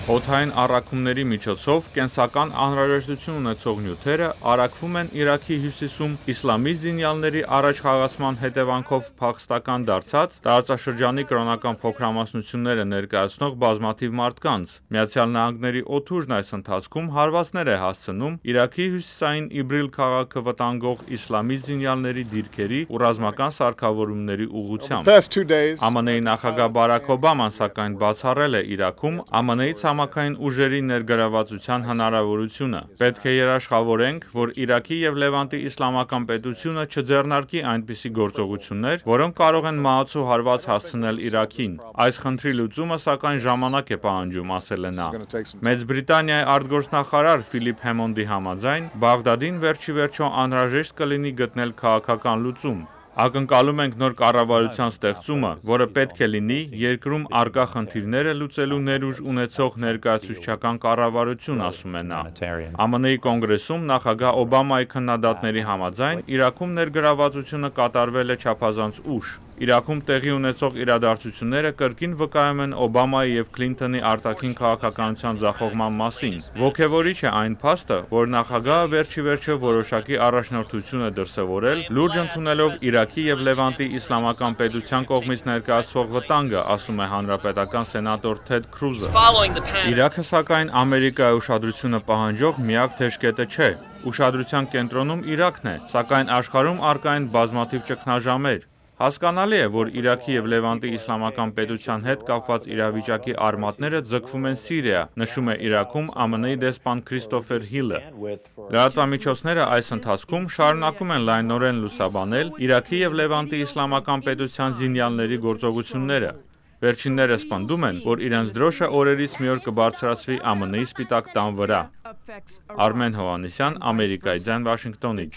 Օդային առաքումների միջոցով կենսական անհրաժեշտություն ունեցող նյութերը առաքվում են Իրաքի հյուսիսում իսլամիստ զինյալների առաջխաղացման հետևանքով փախստական դարձած տարածաշրջանի կրոնական փոքրամասնությունները ներկայացնող բազմաթիվ մարդկանց։ Միացյալ Նահանգների օդուժն այս ընթացքում հարվածներ է հասցնում Իրաքի հյուսիսային Իբրիլ քաղաքը վտանգող իսլամիստ զինյալների դիրքերի ու ռազմական սարքավորումների ուղղությամբ։ ԱՄՆ-ի նախագահ Բարաք Օբաման սակայն բացառել է Իրաքում ԱՄՆ-ի ցամաքային ուժերի ներգրավվածության հնարավորությունը։ Պետք է երաշխավորենք, որ Իրաքի և Լևանտի իսլամական պետությունը չձեռնարկի այնպիսի գործողություններ, որոնք կարող են մահացու հարված հասցնել Իրաքին։ Այս խնդրի լուծումը սակայն ժամանակ է պահանջում, ասել է նա։ Մեծ Բրիտանիայի արտգործնախարար Ֆիլիպ Հեմոնդի համաձայն, Բաղդադին վերջիվերջո անհրաժեշտ կլինի գտնել քաղաքական լուծում։ Ակնկալում ենք նոր կառավարության ստեղծումը, որը պետք է լինի երկրում առկա խնդիրները լուծելու ներուժ ունեցող ներկայացուցչական կառավարություն, ասում է նա։ ԱՄՆ-ի կոնգրեսում նախագահ Օբամայի քննադատների համաձայն Իրաքում ներգրավվածությունը կատարվել է չափազանց ուշ։ Իրաքում տեղի ունեցող իրադարձությունները կրկին վկայում են Օբամայի և Քլինթոնի արտաքին քաղաքականության ձախողման մասին։ Ոգևորիչ է այն փաստը, որ նախագահը վերջիվերջո որոշակի առաջնորդություն է դրսևորել, լուրջ ընդունելով Իրաքի և Լևանտի իսլամական պետության կողմից ներկայացվող վտանգը, ասում է հանրապետական սենատոր Թեդ Քրուզը։ Իրաքը սակայն Ամերիկայի ուշադրությունը պահանջող միակ թեժկետը չէ։ Ուշադրության կենտրոնում Իրաքն է, սակայն աշխարհում առկա են բազմաթիվ ճգնաժամեր։ Հասկանալի է, որ Իրաքի և Լևանտի իսլամական պետության հետ կապված իրավիճակի արմատները ձգվում են Սիրիա, նշում է Իրաքում ԱՄՆ-ի դեսպան Քրիստոֆեր Հիլը։ Լրատվամիջոցները այս ընթացքում շարունակում են լայնորեն լուսաբանել Իրաքի և Լևանտի իսլամական պետության զինյալների գործողությունները։ Վերջիններս պնդում են, որ իրենց դրոշը օրերից մի օր կբարձրացվի ԱՄՆ-ի Սպիտակ տան վրա։ Արմեն Հովհաննիսյան, Ամերիկայի ձայն, Վաշինգտոնից։